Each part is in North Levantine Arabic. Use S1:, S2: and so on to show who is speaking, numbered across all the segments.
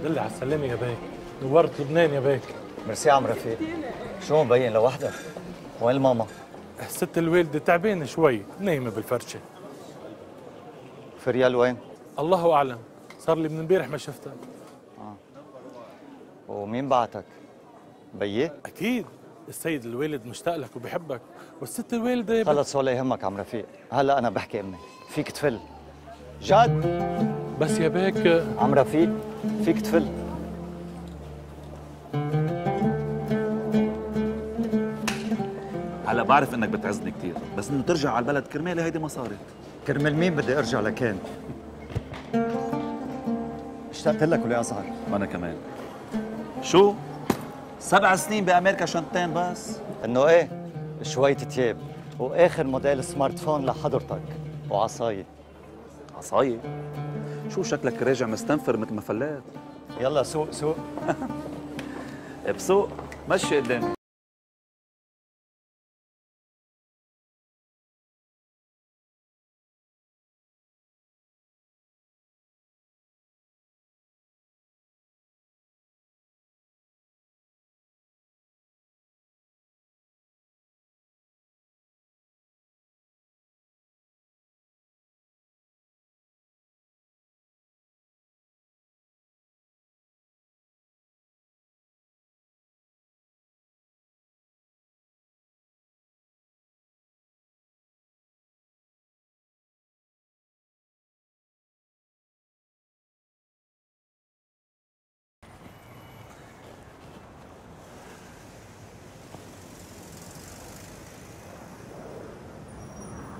S1: دلي على السلامة يا بيك. نورت لبنان يا بيك.
S2: ميرسي عم رفيق. شو مبين لوحدك؟ وين الماما؟
S1: الست الوالدة تعبانة شوي، نايمة بالفرشة.
S2: فريال وين؟
S1: الله أعلم، صار لي من امبارح ما شفتها.
S2: ومين بعتك؟ بيي؟
S1: أكيد، السيد الوالد مشتاق لك وبحبك، والست الوالدة
S2: خلص ولا يهمك عم رفيق، هلا أنا بحكي أمي، فيك تفل. جد؟
S1: بس يا بيك
S2: عم رفيق، فيك تفل.
S3: هلا بعرف انك بتعزني كثير، بس انه ترجع على البلد كرمالي هيدي ما صارت.
S2: كرمال مين بدي ارجع لكان؟ اشتقت لك ولا اصغر؟
S3: وانا كمان. شو؟ 7 سنين بامريكا شنطتين بس؟
S2: انه ايه؟ شوية تياب واخر موديل سمارت فون لحضرتك وعصاية.
S3: عصاية؟ شو شكلك راجع مستنفر مثل ما فلات؟
S2: يلا سوق سوق.
S3: بسوق مشي قدامي.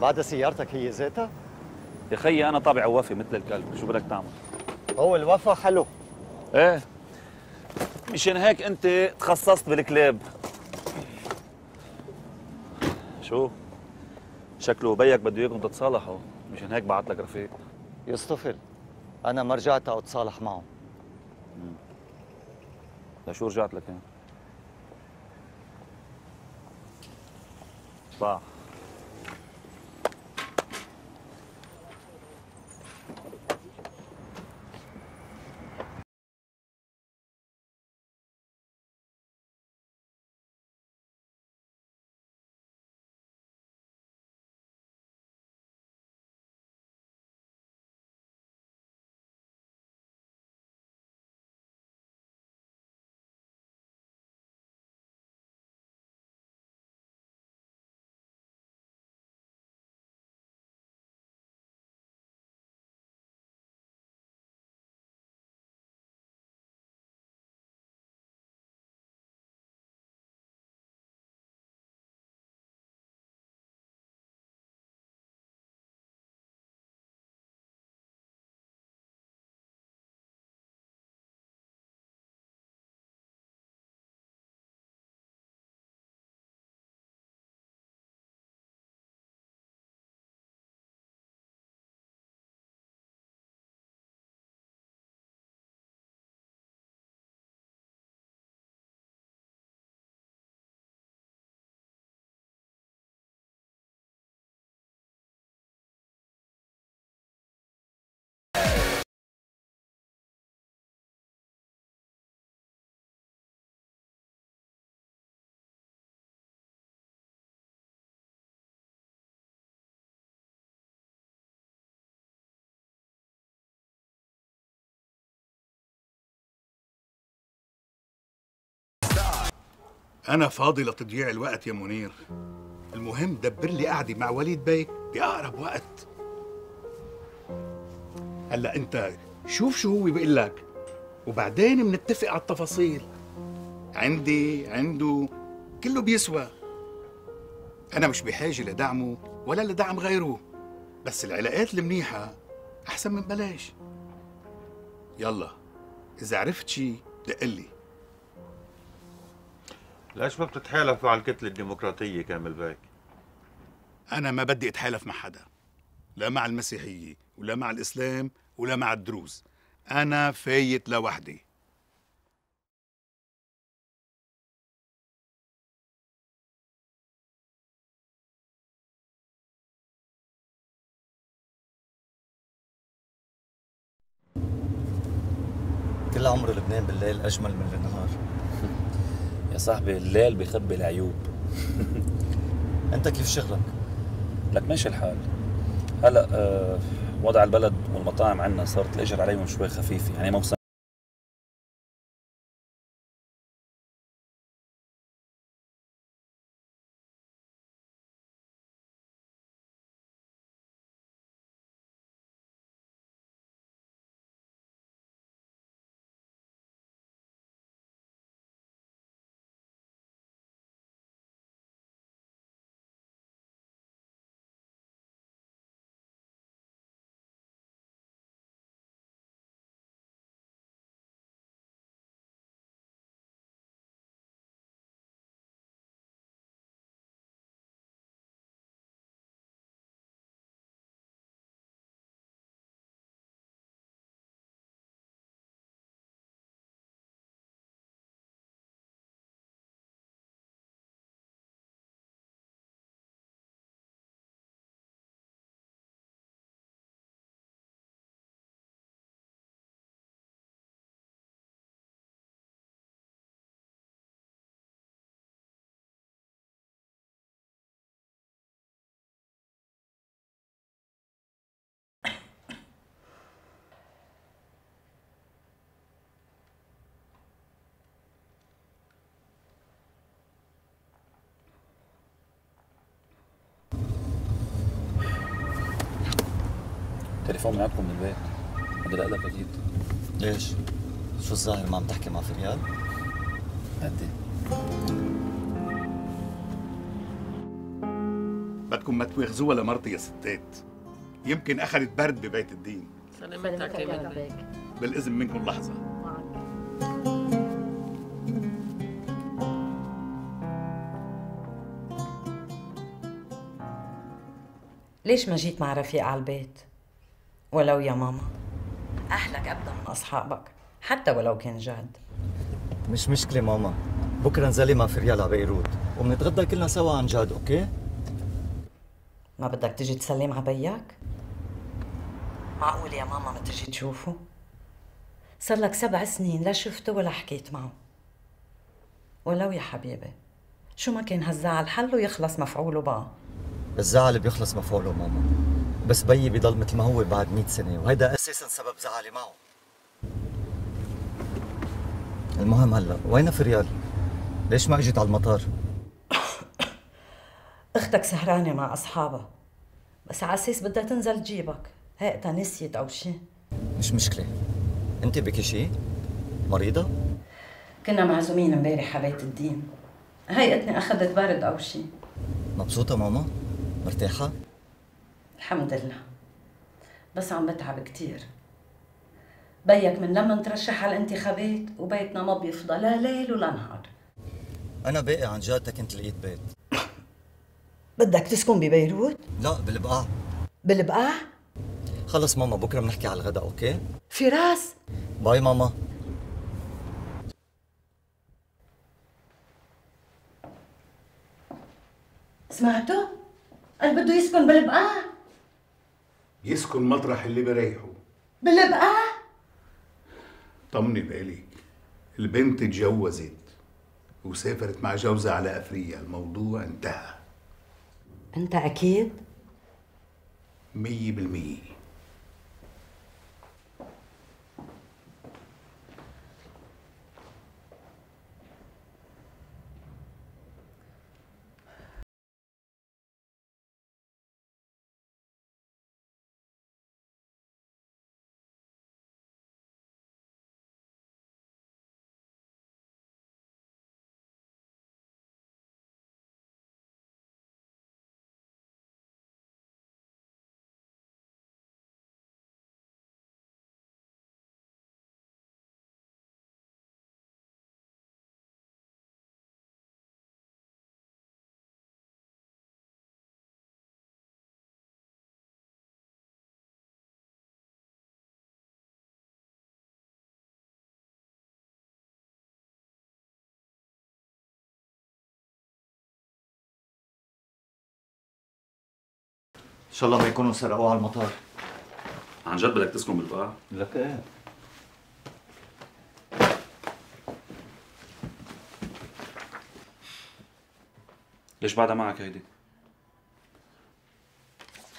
S2: بعد سيارتك هي ذاتها؟
S3: يا خيي انا طابع وفي مثل الكلب، شو بدك تعمل؟
S2: هو الوفا حلو.
S3: ايه مشان هيك انت تخصصت بالكلاب. شو؟ شكله بيك بده اياكم تتصالحوا، مشان هيك بعت لك رفيق.
S2: يصطفل، انا ما رجعت اتصالح معه.
S3: لشو رجعت لك يعني؟ صح.
S4: أنا فاضي لتضييع الوقت يا منير. المهم دبر لي قعدة مع وليد بيك بأقرب وقت. هلا أنت شوف شو هو بيقول لك وبعدين بنتفق على التفاصيل. عندي عنده كله بيسوى. أنا مش بحاجة لدعمه ولا لدعم غيره، بس العلاقات المنيحة أحسن من بلاش. يلا إذا عرفت شي دقلي.
S5: ليش ما بتتحالفوا على الكتلة الديمقراطية كامل بيك؟
S4: أنا ما بدي أتحالف مع حدا، لا مع المسيحية ولا مع الإسلام ولا مع الدروز. أنا فايت لوحدي.
S2: كل عمره لبنان بالليل أجمل من النهار.
S3: يا صاحبي الليل بيخبي العيوب.
S2: أنت كيف شغلك؟
S3: لك ماشي الحال. هلا وضع البلد والمطاعم عنا صارت الأجر عليهم شوي خفيفة، يعني موسم تليفون من عندكم من البيت. بدي لك أكيد.
S2: ليش؟ شو الظاهر ما عم تحكي مع فريال؟
S3: هدي.
S4: بدكم ما تواخذوها لمرتي يا ستات، يمكن أخذت برد ببيت الدين.
S6: سلامتك يا بنتك.
S4: بالإذن منكم لحظة.
S6: ليش ما جيت مع رفيق على البيت؟ ولو يا ماما أهلك أبدا من أصحابك، حتى ولو كان جاد.
S2: مش مشكلة ماما، بكرة نزلي مع فريال على بيروت وبنتغدى كلنا سوا عن جد، أوكي؟
S6: ما بدك تجي تسلم على بيك؟ معقول يا ماما ما تجي تشوفه؟ صار لك 7 سنين لا شفته ولا حكيت معه. ولو يا حبيبي شو ما كان هالزعل حله يخلص مفعوله بقى.
S2: الزعل بيخلص مفعوله ماما، بس بيي بيضل مثل ما هو بعد 100 سنة، وهيدا أساساً سبب زعلي معه. المهم هلا وين فريال؟ ليش ما اجت على المطار؟
S6: اختك سهرانة مع أصحابها، بس على أساس بدها تنزل تجيبك، هيئتها نسيت أو شي.
S2: مش مشكلة. أنت بكي شي؟ مريضة؟
S6: كنا معزومين امبارح على بيت الدين، هيئتني أخذت برد أو شي.
S2: مبسوطة ماما؟ مرتاحة؟
S6: الحمد لله، بس عم بتعب كتير. بيك من لما نترشح على الانتخابات وبيتنا ما بيفضى لا ليل ولا نهار.
S2: أنا باقي عن جد كنت لقيت بيت.
S6: بدك تسكن ببيروت؟
S2: لا بالبقاع.
S6: بالبقاع؟
S2: خلص ماما بكرة بنحكي على الغداء، أوكي؟
S6: فراس
S2: باي ماما.
S6: سمعتوا؟ قال بده يسكن بالبقاع.
S4: يسكن مطرح اللي بريحه.
S6: بالبقاع؟
S4: طمني بالك، البنت اتجوزت وسافرت مع جوزها على أفريقيا، الموضوع انتهى.
S6: أنت أكيد؟
S4: 100%.
S2: إن شاء الله ما يكونوا سرقوه على المطار.
S3: عن جد بدك تسكن بالبقاع؟
S2: لك إيه؟
S3: ليش بعدها معك هيدي؟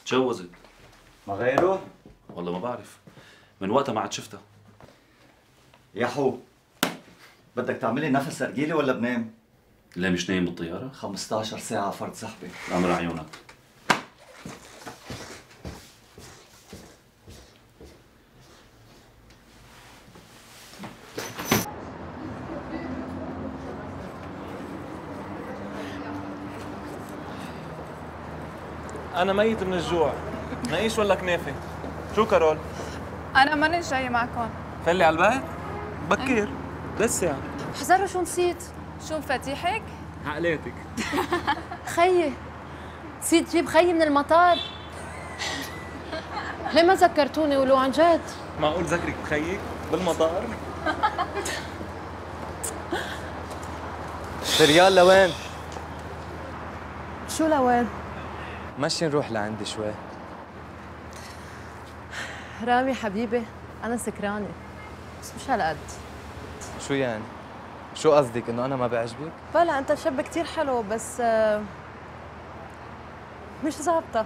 S3: تجوزت.
S2: ما غيره؟
S3: والله ما بعرف، من وقتها ما عاد شفتها.
S2: يا حو، بدك تعملي نفس ارجيلي ولا بنام؟
S3: ليه مش نايم بالطيارة؟
S2: 15 ساعة فرد سحبة.
S3: أمر عيونك.
S7: أنا ميت من الجوع. نعيش ولا كنافة؟ شو كارول؟
S8: أنا ماني جاي معكم.
S7: فلي على البيت؟ بكير لسه يعني.
S8: حزروا شو نسيت؟ شو مفاتيحك؟
S7: عقلاتك.
S9: خيي نسيت جيب خيي من المطار. ليه ما ذكرتوني ولو عن جد؟
S7: معقول ذكرك بخيك بالمطار؟ ريال لوين؟
S9: شو لوين؟
S7: مشي نروح لعندي شوي.
S9: رامي حبيبي أنا سكرانة بس مش هالقد.
S7: شو يعني؟ شو قصدك انه انا ما بعجبك؟
S9: بلا أنت شاب كتير حلو بس مش ظابطة.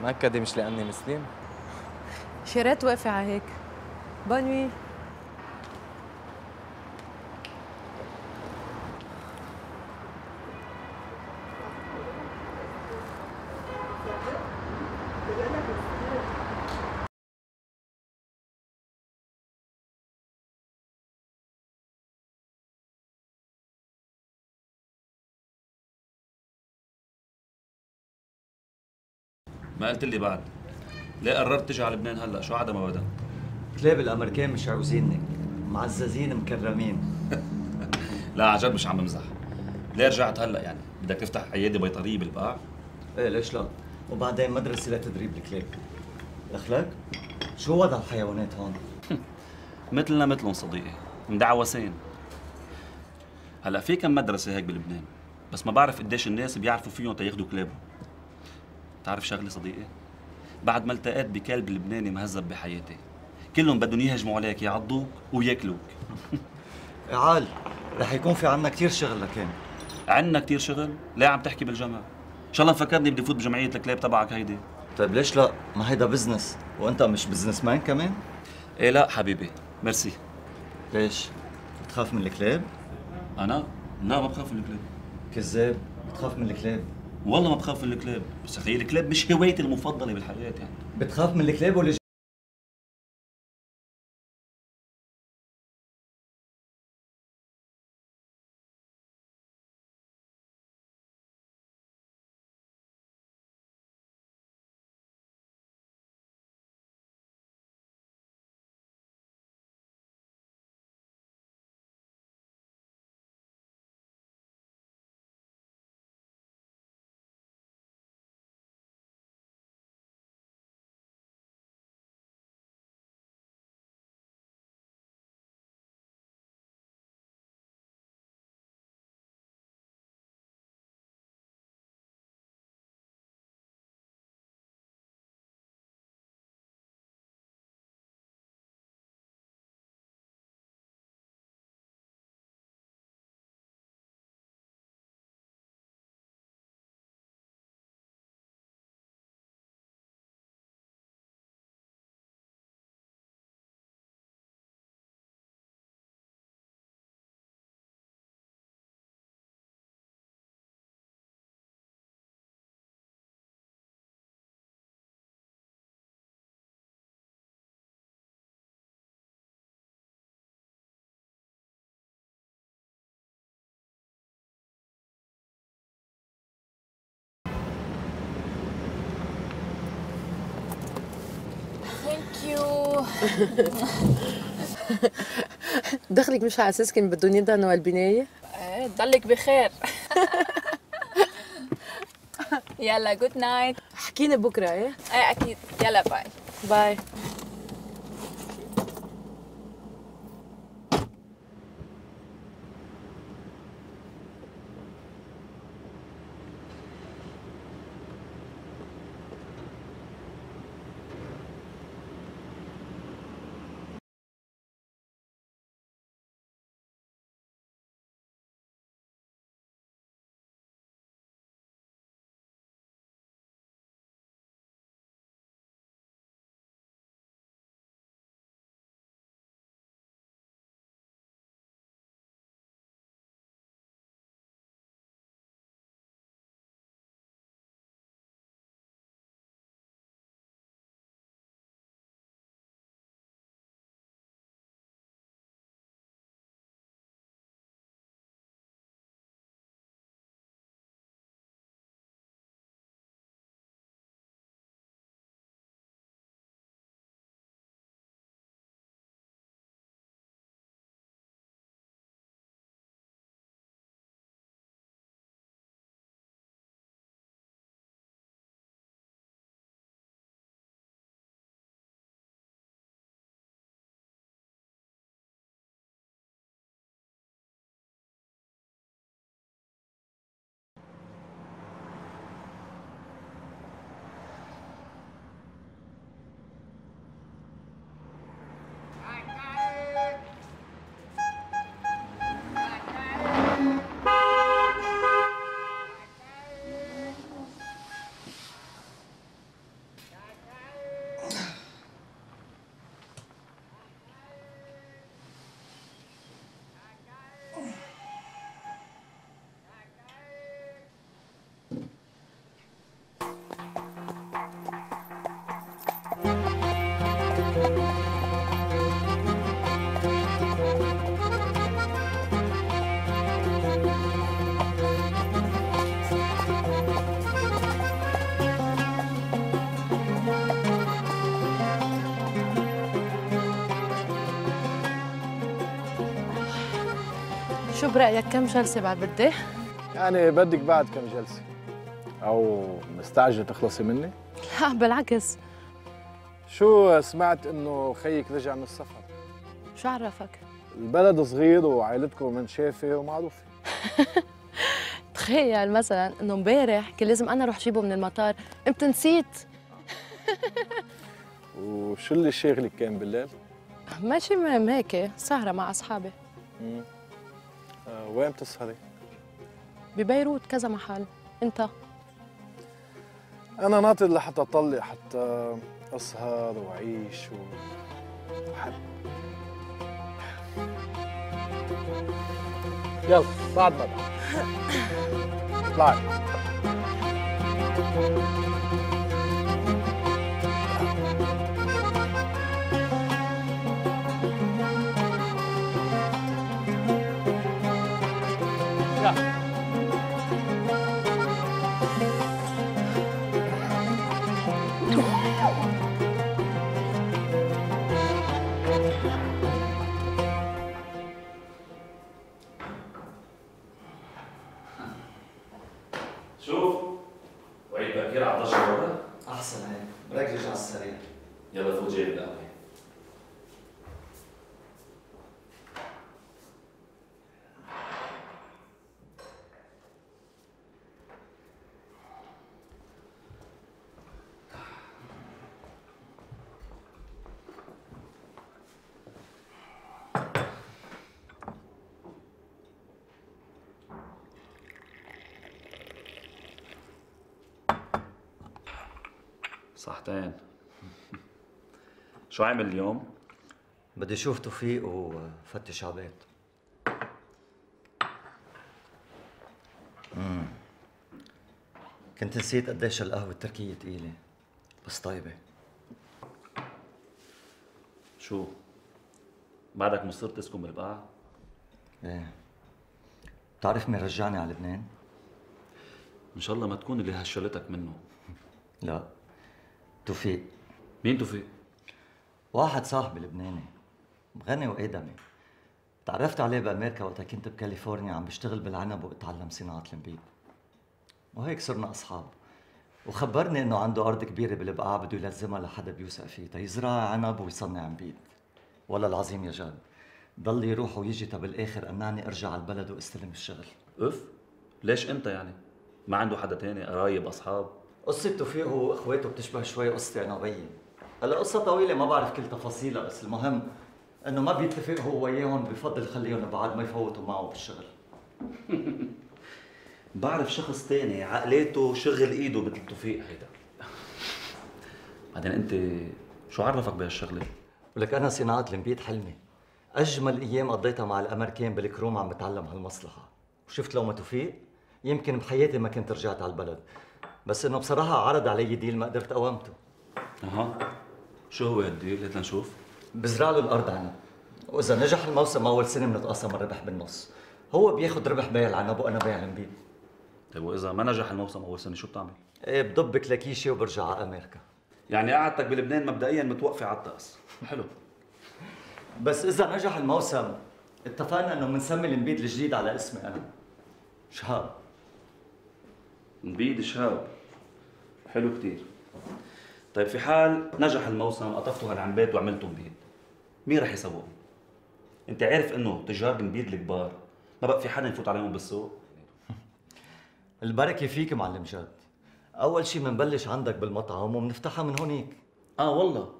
S7: مأكدة مش لأني مسلم؟
S9: شي ريت وقفي على هيك. بونوي.
S3: ما قلت لي بعد، ليه قررت تجي على لبنان هلا؟ شو عدا ما بدك؟
S2: كلاب الامريكان مش عاوزينك، معززين مكرمين.
S3: لا عن جد مش عم بمزح. ليه رجعت هلا يعني؟ بدك تفتح عياده بيطريه بالبقاع؟
S2: ايه ليش لا؟ وبعدين مدرسة لتدريب الكلاب. دخلك؟ شو وضع الحيوانات هون؟
S3: مثلنا مثلهم صديقي، مدعوسين. هلا في كم مدرسه هيك بلبنان، بس ما بعرف قديش الناس بيعرفوا فيهم تياخذوا كلابهم. بتعرف شغله صديقي؟ بعد ما التقيت بكلب لبناني مهذب بحياتي، كلهم بدهم يهجموا عليك يعضوك وياكلوك.
S2: عال، رح يكون في عنا كثير شغل لكن.
S3: عنا كثير شغل؟ ليه عم تحكي بالجمع؟ ان شاء الله مفكرني بدي فوت بجمعيه الكلاب تبعك هيدي.
S2: طيب ليش لا؟ ما هيدا بزنس، وانت مش بزنس مان كمان؟
S3: ايه لا حبيبي، ميرسي.
S2: ليش؟ بتخاف من الكلاب؟
S3: انا؟ لا ما بخاف من الكلاب.
S2: كذاب، بتخاف من الكلاب.
S3: والله ما بخاف من الكلاب، بس اخي الكلاب مش هوايتي المفضله بالحياه يعني.
S2: بتخاف من الكلاب ولا
S9: ثانك يو. دخلك مش على اساس كان بدهم يدهنوا البنايه؟
S8: ايه ضلك بخير. يلا جود نايت.
S9: حكينا بكره. ايه
S8: اكيد. يلا باي.
S9: باي. شو برأيك كم جلسة بعد بدي؟
S10: يعني بدك بعد كم جلسة؟ أو مستعجلة تخلصي مني؟
S9: لا بالعكس.
S10: شو سمعت إنه خيك رجع من السفر؟
S9: شو عرفك؟
S10: البلد صغير وعائلتكم منشافة ومعروفة.
S9: تخيل مثلا إنه امبارح كان لازم أنا أروح جيبه من المطار، قمت نسيت.
S10: وشو اللي شاغلك كان بالليل؟
S9: ماشي مهم هيك، سهرة مع أصحابي.
S10: وين بتسهري؟
S9: ببيروت كذا محل. أنت؟
S10: أنا ناطر لحتى أطلق، حتى أسهر وأعيش وأحب. يلا بعد ما اطلعي.
S3: شوف وعيد بكير على 11 ورا.
S2: احسن هيك، بركز على السريع.
S3: يلا فوت جايب القهوه. صحتين. شو عامل اليوم؟
S2: بدي اشوف توفيق وفتش على بيت. كنت نسيت قديش القهوة التركية تقيلة بس طيبة.
S3: شو؟ بعدك مصر تسكن بالبقعة؟
S2: ايه. بتعرف مين رجعني على لبنان؟
S3: ان شاء الله ما تكون اللي هشلتك منه.
S2: لا، توفيق.
S3: مين توفيق؟
S2: واحد صاحبي لبناني غني وآدمي. تعرفت عليه بأمريكا وقتها كنت بكاليفورنيا عم بشتغل بالعنب واتعلم صناعة النبيذ. وهيك صرنا أصحاب. وخبرني إنه عنده أرض كبيرة بالبقاع بده يلزمها لحدا بيوثق فيه تيزرع عنب ويصنع نبيذ. والله العظيم يا جاد، ضل يروح ويجي بالآخر أمنعني أرجع على البلد وأستلم الشغل.
S3: اف؟ ليش أنت يعني؟ ما عنده حدا تاني، قرايب، أصحاب؟
S2: قصة توفيق هو واخواته بتشبه شوي قصتي انا وبيي. هلا قصة طويلة ما بعرف كل تفاصيلها، بس المهم انه ما بيتفق هو وياهم، بفضل خليهم بعد ما يفوتوا معه بالشغل.
S3: بعرف شخص تاني عقليته شغل ايده مثل توفيق هيدا. بعدين انت شو عرفك بهالشغلة؟
S2: ولك انا صناعة النبيذ حلمي. اجمل ايام قضيتها مع الامريكان بالكروم عم بتعلم هالمصلحة. وشفت لو ما توفيق يمكن بحياتي ما كنت رجعت على البلد. بس انه بصراحة عرض علي ديل ما قدرت قاومته.
S3: اها، شو هو هالديل؟ هات لنشوف.
S2: بزرع له الارض عنب، واذا نجح الموسم اول سنة بنتقاسم الربح بالنص. هو بياخذ ربح بيع العنب وانا بيع النبيذ.
S3: طيب واذا ما نجح الموسم اول سنة شو بتعمل؟
S2: ايه بضب كلاكيشي وبرجع على امريكا.
S3: يعني قعدتك بلبنان مبدئيا متوقفة على الطقس. حلو.
S2: بس اذا نجح الموسم اتفقنا انه بنسمي النبيذ الجديد على اسمي انا، شهاب.
S3: نبيذ شهاب، حلو كتير. طيب في حال نجح الموسم قطفتوا هالعنبات وعملتوا نبيذ، مين رح يسوق؟ انت عارف انه تجار النبيذ الكبار ما بقى في حدا يفوت عليهم بالسوق؟
S2: البركة فيك معلم جاد. اول شيء بنبلش عندك بالمطعم وبنفتحها من هونيك.
S3: والله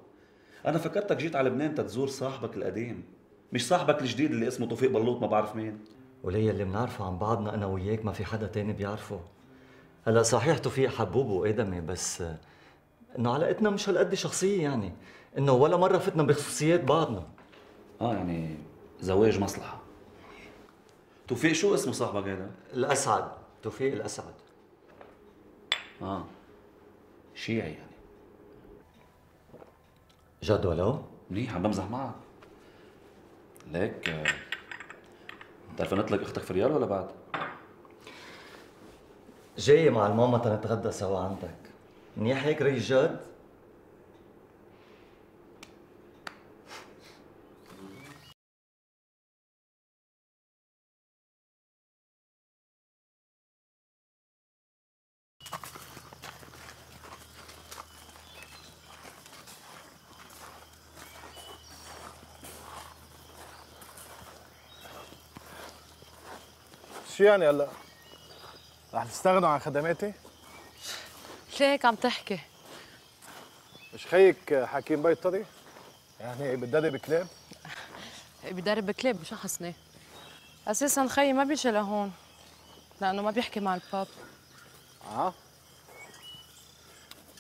S3: انا فكرتك جيت على لبنان تزور صاحبك القديم، مش صاحبك الجديد اللي اسمه توفيق بلوط ما بعرف مين.
S2: وليه اللي بنعرفه عن بعضنا انا وياك ما في حدا تاني بيعرفه. هلا صحيح توفيق حبوب وآدمي، بس انه علاقتنا مش هالقد شخصيه، يعني انه ولا مره فتنا بخصوصيات بعضنا.
S3: يعني زواج مصلحه. توفيق شو اسمه صاحبك هذا؟
S2: الاسعد، توفيق الاسعد.
S3: شيعي يعني.
S2: جد ولو؟
S3: منيح، عم بمزح معك. ليك بتعرف نطلق اختك في ريال ولا بعد؟
S2: جاي مع الماما تنتغدى سوا عندك. منيح هيك ري جاد؟
S10: شو يعني هلا؟ رح تستغنوا عن خدماتي؟
S9: ليه هيك عم تحكي؟
S10: مش خيك حكيم بيطري؟ يعني بتدرب كلاب؟
S9: بدرب كلاب مش حسني. اساسا خيي ما بيجي لهون لانه ما بيحكي مع الباب.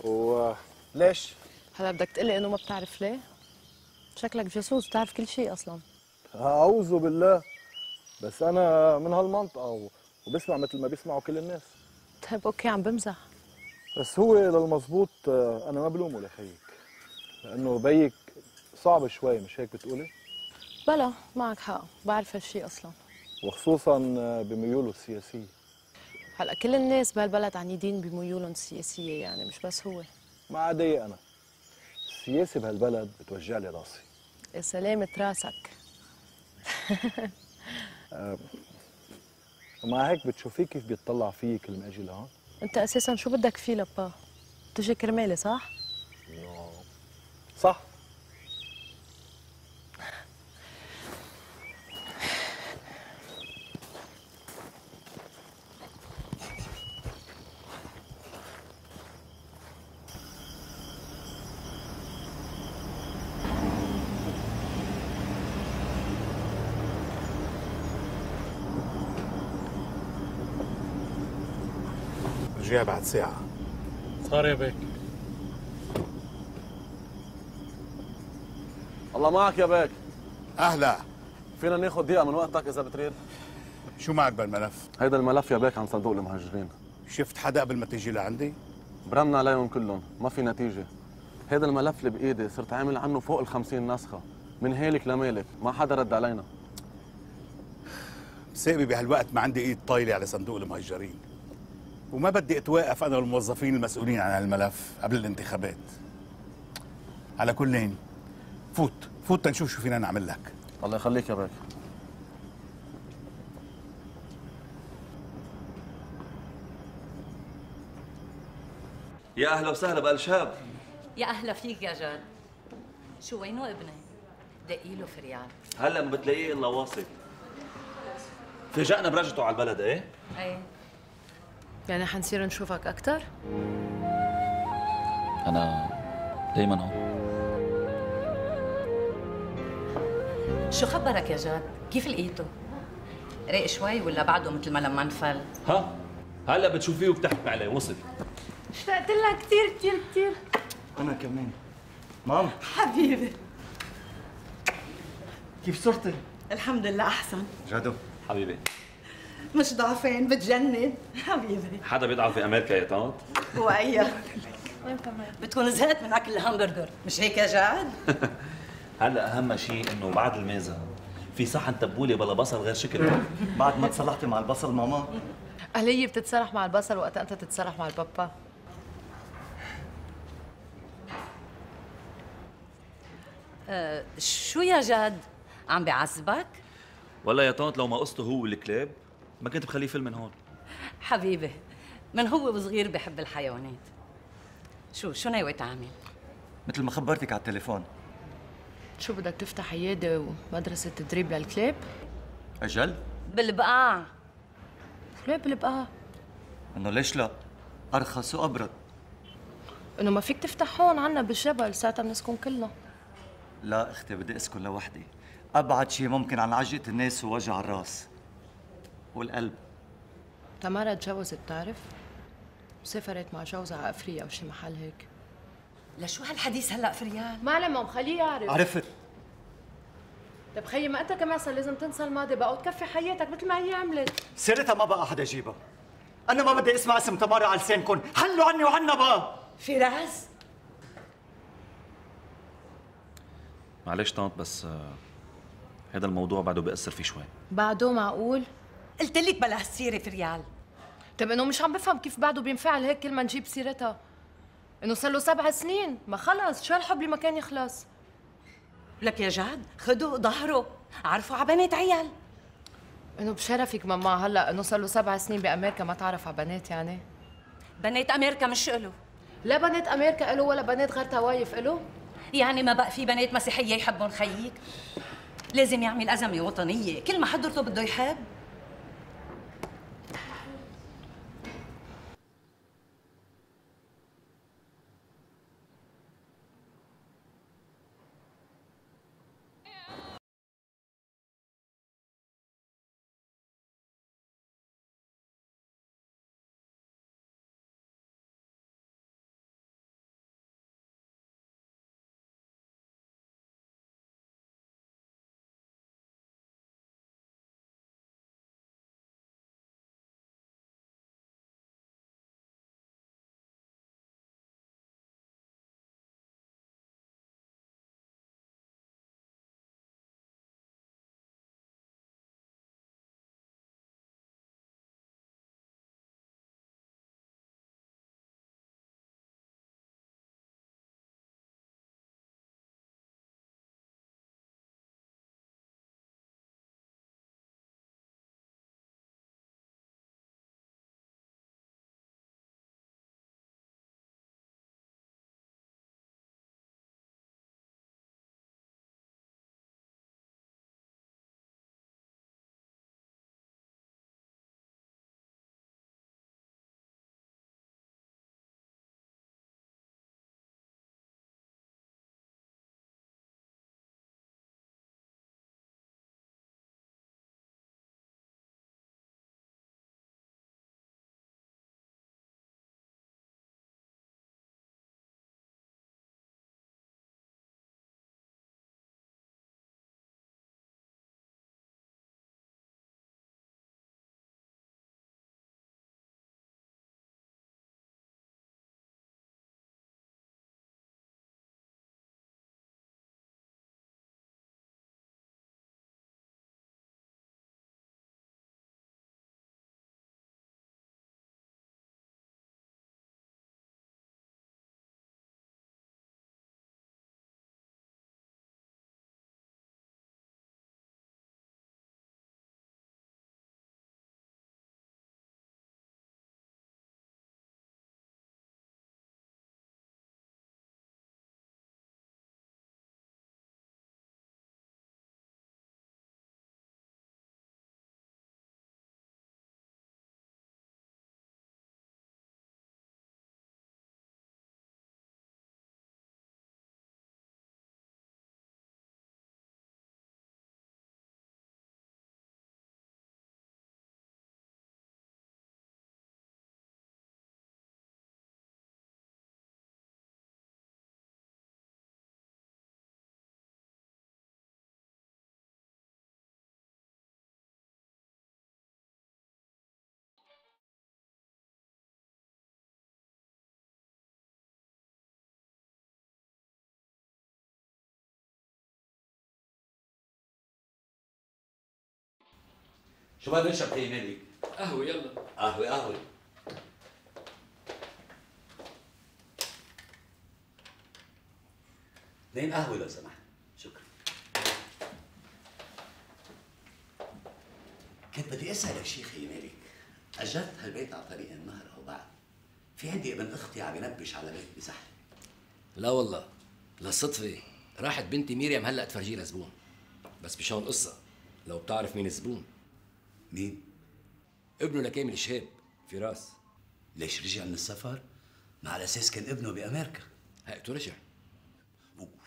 S10: وليش؟
S9: هلا بدك تقلي انه ما بتعرف ليه؟ شكلك جاسوس بتعرف كل شيء اصلا.
S10: اعوذ بالله، بس انا من هالمنطقه وبسمع مثل ما بيسمعوا كل الناس.
S9: طيب اوكي عم بمزح.
S10: بس هو للمزبوط انا ما بلومه لخيك، لانه بيك صعب شوي، مش هيك بتقولي؟
S9: بلا معك حق، بعرف هالشيء اصلا.
S10: وخصوصا بميوله السياسيه.
S9: هلا كل الناس بهالبلد عنيدين بميولهم السياسيه، يعني مش بس هو.
S10: ما عادي انا السياسه بهالبلد بتوجع لي راسي.
S9: يا سلامة راسك.
S10: ومع هيك بتشوفيه كيف بيطلع فيي كل ما اجي لهون؟
S9: انت اساسا شو بدك فيه لبا؟ تجي كرمالي صح؟
S10: صح. رجع بعد ساعة.
S1: صار يا بيك.
S11: الله معك يا بيك.
S4: أهلا.
S11: فينا ناخذ دقيقة من وقتك إذا بتريد؟
S4: شو معك بالملف؟
S11: هيدا الملف يا بيك عن صندوق المهاجرين.
S4: شفت حدا قبل ما تيجي لعندي؟
S11: برمنا عليهم كلهم، ما في نتيجة. هيدا الملف اللي بإيدي صرت عامل عنه فوق ال50 نسخة، من هالك لمالك، ما حدا رد علينا.
S4: بسببي بهالوقت ما عندي ايد طايلة على صندوق المهاجرين. وما بدي اتوقف انا والموظفين المسؤولين عن هالملف قبل الانتخابات. على كلين فوت تنشوف شو فينا نعمل لك.
S11: الله يخليك يا بيك.
S3: يا اهلا وسهلا بقلشاب.
S6: يا اهلا فيك يا جاد. شو وينه ابني؟ دقيله فريال.
S3: هلا ما بتلاقيه الا واصل. فاجأنا برجعته على البلد ايه؟
S6: ايه.
S9: يعني حنصير نشوفك أكتر؟
S3: أنا دايما هون.
S6: شو خبرك يا جاد؟ كيف لقيته؟ رايق شوي ولا بعده مثل ما لما انفل؟
S3: ها؟ هلا بتشوفيه وبتحكي عليه وصل.
S6: اشتقت لها كثير كثير كثير.
S2: أنا كمان. مام.
S6: حبيبي.
S2: كيف صرتي؟
S6: الحمد لله أحسن.
S2: جادو.
S3: حبيبي.
S6: مش ضعفين بتجنن حبيبي.
S3: حدا بيضعف في أمريكا يا طنط؟
S6: هو أيه؟ بتكون زهقت من أكل الهامبرجر، مش هيك يا جاد؟
S3: هلا أهم شيء إنه بعد الميزة في صحن تبولة بلا بصل غير شكل.
S2: بعد ما تصلحتي مع البصل ماما؟
S9: هي بتتصالح مع البصل وقت أنت تتصالح مع البابا.
S6: شو يا جاد؟ عم بيعذبك؟
S3: والله يا طنط لو ما قصته هو والكلاب ما كنت بخليه فيلم من هون.
S6: حبيبي من هو وصغير بحب الحيوانات. شو ناوي تعمل؟
S2: مثل ما خبرتك على التليفون.
S9: شو بدك تفتح عيادة ومدرسة تدريب للكلاب؟
S2: أجل؟
S6: بالبقاع.
S9: ليه بالبقاع؟
S2: إنه ليش لا؟ أرخص وأبرد.
S9: إنه ما فيك تفتح هون عنا بالجبل، ساعتها بنسكن كلنا.
S2: لا اختي بدي اسكن لوحدي. ابعد شيء ممكن عن عجقة الناس ووجع الراس والقلب.
S9: تمارا تجوزت بتعرف؟ سافرت مع جوزها على افريقيا او شي محل هيك.
S6: لشو هالحديث هلا فريال؟
S9: معلم خليه يعرف.
S2: عرفت.
S9: طيب خيي ما انت كمان صار لازم تنسى الماضي بقى وتكفي حياتك مثل ما هي عملت.
S2: سيرتها ما بقى حدا يجيبها. انا ما بدي اسمع اسم تمارا على لسانكم، حلوا عني وعنا بقى.
S6: فراس
S3: معلش طنط بس هذا الموضوع بعده بيأثر فيه شوي.
S9: بعده معقول؟
S6: قلت لك بلا هالسيره فريال.
S9: طيب انه مش عم بفهم كيف بعده بينفعل هيك كل ما نجيب سيرتها. انه صار له 7 سنين، ما خلص شو هالحب اللي ما كان يخلص.
S6: لك يا جاد خدوا ظهره، عرفوا على بنات عيال.
S9: انه بشرفك ماما هلا انه صار له 7 سنين بامريكا ما تعرف على بنات يعني؟
S6: بنات امريكا مش له.
S9: لا بنات امريكا له ولا بنات غير توايف له.
S6: يعني ما بقى في بنات مسيحيه يحبون خيك؟ لازم يعمل ازمه وطنيه، كل ما حضرته بده يحب.
S12: شو ما بنشرب خي مالك؟
S13: قهوة يلا.
S12: قهوة قهوة. اثنين قهوة لو سمحت. شكرا. كنت بدي اسألك شي خي مالك، أجرت هالبيت على طريق النهر أو بعد؟ في عندي ابن أختي عم ينبش على بيت بزحلة.
S13: لا والله، للصدفة راحت بنتي ميريام هلا تفرجي لها زبون. بس بشون قصة، لو بتعرف مين الزبون.
S12: مين؟
S13: ابنه لكامل شهاب، فراس.
S12: ليش رجع من السفر؟ ما على أساس كان ابنه بأمريكا.
S13: هيئته رجع.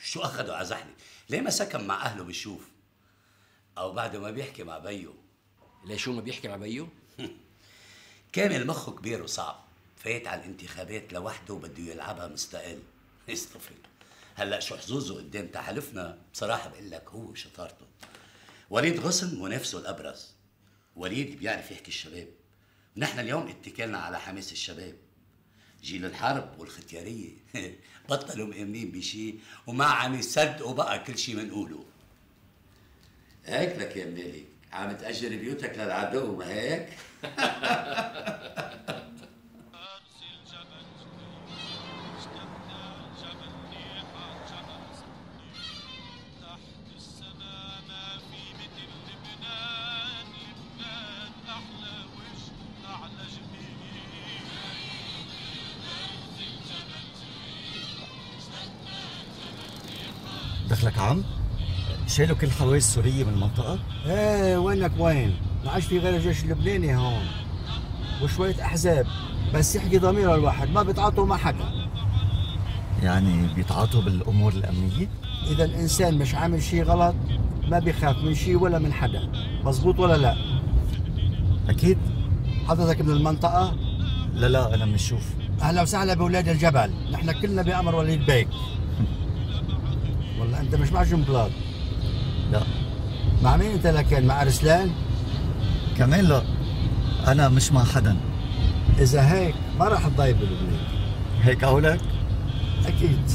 S12: شو أخده على زحلة؟ ليه ما سكن مع أهله بالشوف؟ أو بعده ما بيحكي مع بيو؟
S13: ليه شو ما بيحكي مع بيو؟
S12: كامل مخه كبير وصعب، فايت على الانتخابات لوحده وبده يلعبها مستقل. يستفل. هلا شو حظوظه قدام تحالفنا؟ بصراحة بقول لك هو شطارته. وليد غصن منافسه الأبرز. وليد بيعرف يحكي الشباب. ونحن اليوم اتكلنا على حماس الشباب. جيل الحرب والختيارية بطلوا مؤمنين بشي وما عم يصدقوا بقى كل شي منقوله. هيك لك يا مالك، عم تأجر بيوتك للعدو ما هيك؟
S2: دخلك عم؟ شالوا كل الحواجز السورية من المنطقة؟
S14: ايه وينك وين؟ ما عادش في غير الجيش اللبناني هون وشوية أحزاب، بس يحكي ضمير الواحد ما بيتعاطوا مع حدا.
S2: يعني بيتعاطوا بالأمور الأمنية؟
S14: إذا الإنسان مش عامل شي غلط ما بيخاف من شي ولا من حدا، مزبوط ولا لا؟
S2: أكيد.
S14: حضرتك من المنطقة؟
S2: لا أنا من الشوف.
S14: أهلا وسهلا بولاد الجبل، نحن كلنا بأمر وليد بيك. والله أنت مش مع جنبلاط؟
S2: لا.
S14: مع مين أنت لكن؟ مع أرسلان؟
S2: كمان لا، أنا مش مع حدا.
S14: إذا هيك ما راح تضايق بلبنان.
S2: هيك قولك؟
S14: أكيد.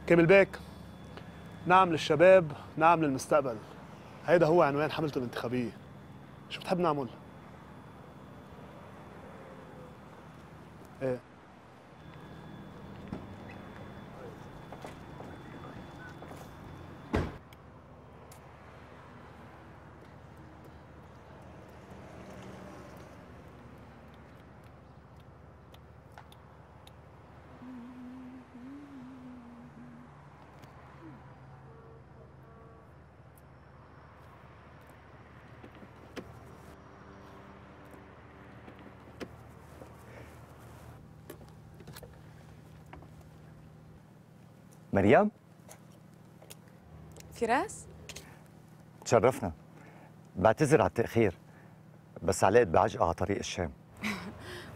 S10: كامل بيك، نعم للشباب، نعم للمستقبل. هيدا هو عنوان حملته الانتخابية. شو بتحب نعمل؟ ايه
S2: مريم؟
S15: فراس؟
S2: تشرفنا. بعتذر على التأخير، بس علقت بعجقة على طريق الشام.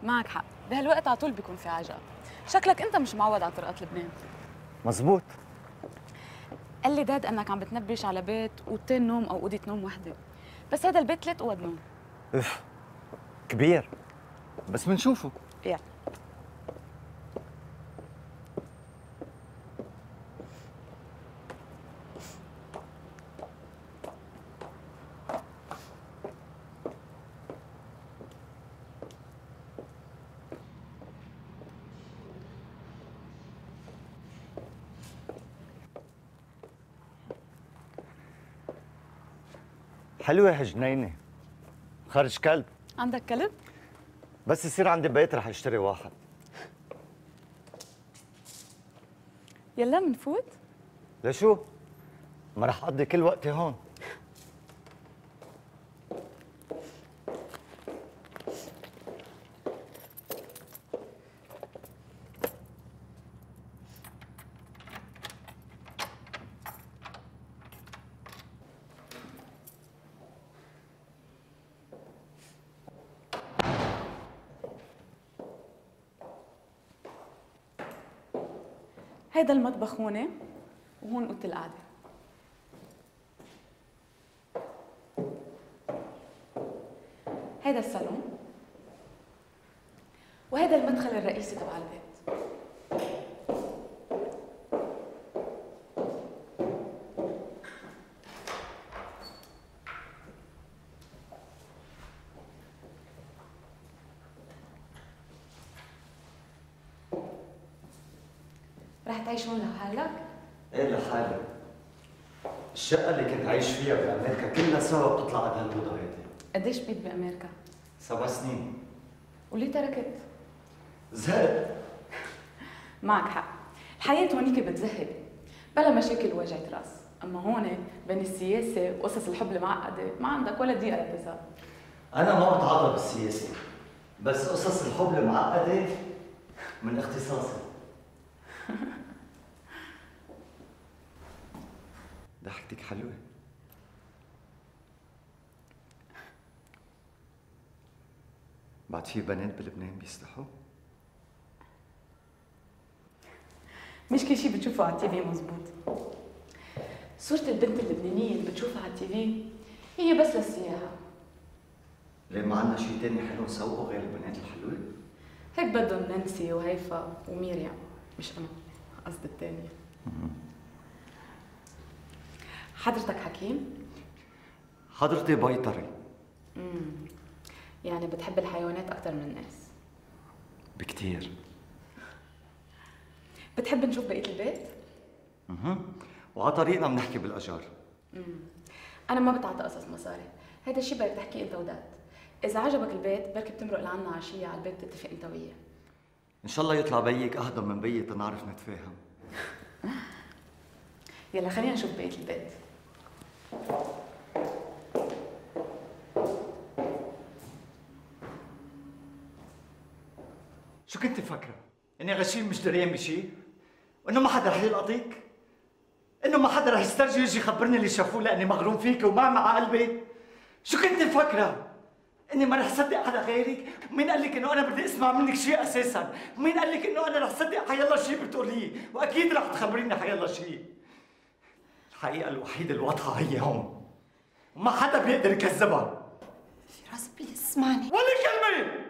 S15: معك حق، بهالوقت على طول بيكون في عجقة. شكلك أنت مش معود على طرقات لبنان.
S2: مزبوط.
S15: قال لي داد أنك عم بتنبش على بيت أوضتين نوم أو أوضة نوم وحدة، بس هذا البيت 3 أوض نوم.
S2: اف كبير، بس بنشوفه.
S15: يلا.
S2: حلوة هالجنينة، خرج كلب.
S15: عندك كلب؟
S2: بس يصير عندي بيت رح اشتري واحد.
S15: يلا منفوت؟
S2: لشو؟ ما رح اقضي كل وقتي هون.
S15: هيدا المطبخ هون وهون اوضه القعده. هيدا الصالون. وهذا المدخل الرئيسي تبع البيت. رح تعيش هون لحالك؟
S2: ايه لحالي. الشقة اللي كنت عايش فيها بأمريكا كلها سوا بتطلع على هالأوضة هيدي.
S15: قديش بقيت بأمريكا؟
S2: 7 سنين.
S15: وليه تركت؟
S2: زهقت.
S15: معك حق، الحياة هونيك بتزهق، بلا مشاكل ووجعة راس، أما هون بين السياسة وقصص الحب المعقدة ما عندك ولا دقيقة لتزهق.
S2: أنا ما بتعاطى بالسياسة، بس قصص الحب المعقدة من اختصاصي. ضحكتك حلوة. بعد في بنات بلبنان بيستحوا؟
S15: مش كل شيء بتشوفه على التي في مزبوط. صورة البنت اللبنانية اللي بتشوفها على التي في هي بس للسياحة.
S2: ليه ما عندنا شيء تاني حلو نسوقه غير البنات الحلوة؟
S15: هيك بدهم نانسي وهيفا وميريام، مش أنا، قصدي الثانية. حضرتك حكيم؟
S2: حضرتي بيطري.
S15: يعني بتحب الحيوانات أكثر من الناس؟
S2: بكتير.
S15: بتحب نشوف بقية البيت؟
S2: وعلى طريقنا بنحكي بالأجار.
S15: أنا ما بتعاطى قصص مصاري، هيدا الشيء بدك تحكيه أنت وداد. إذا عجبك البيت بركي بتمرق لعنا عشية على البيت تتفق أنت وياه.
S2: إن شاء الله يطلع بيك أهضم من بيي تنعرف نتفاهم.
S15: يلا خلينا نشوف بقية البيت.
S2: شو كنت فاكرة؟ إني غشيم مش دريان بشيء؟ وإنه ما حدا رح يلقطك؟ إنه ما حدا رح يسترجي يجي يخبرني اللي شافوه لأني مغروم فيك ومع قلبي؟ شو كنت فاكرة؟ إني ما رح صدق حدا غيرك؟ مين قال لك إنه أنا بدي أسمع منك شيء أساساً؟ مين قال لك إنه أنا رح صدق حيالله شيء بتقوليه؟ وأكيد رح تخبريني حيالله شيء. الحقيقة الوحيدة الواضحة هي هون. وما حدا بيقدر يكذبها.
S16: فراس بليز اسمعني.
S2: ولا كلمة!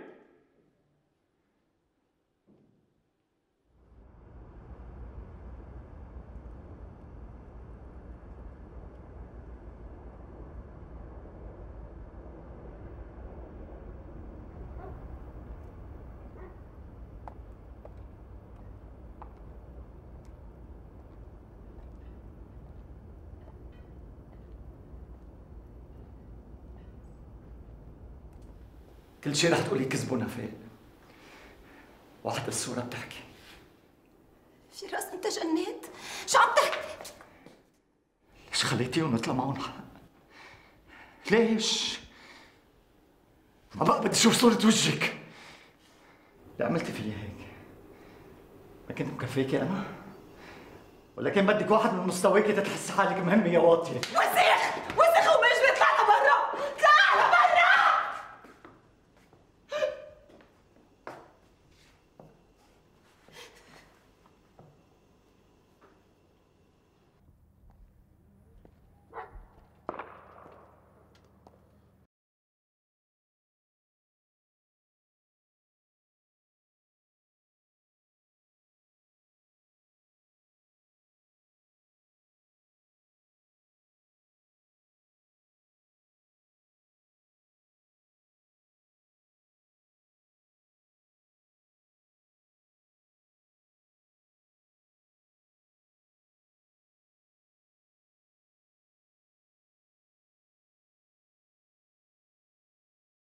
S2: كل شيء رح تقولي كذب ونفاق. وحتى الصورة بتحكي.
S16: فراس انت جنيت؟ شو عم تحكي؟
S2: ليش خليتيهم يطلع معهم حق؟ ليش؟ ما بقى بدي اشوف صورة وجهك. اللي عملتي فيي هيك ما كنت مكفيكي انا؟ ولا كان بدك واحد من مستواكي تتحسي حالك مهمة يا واطية؟
S16: وزير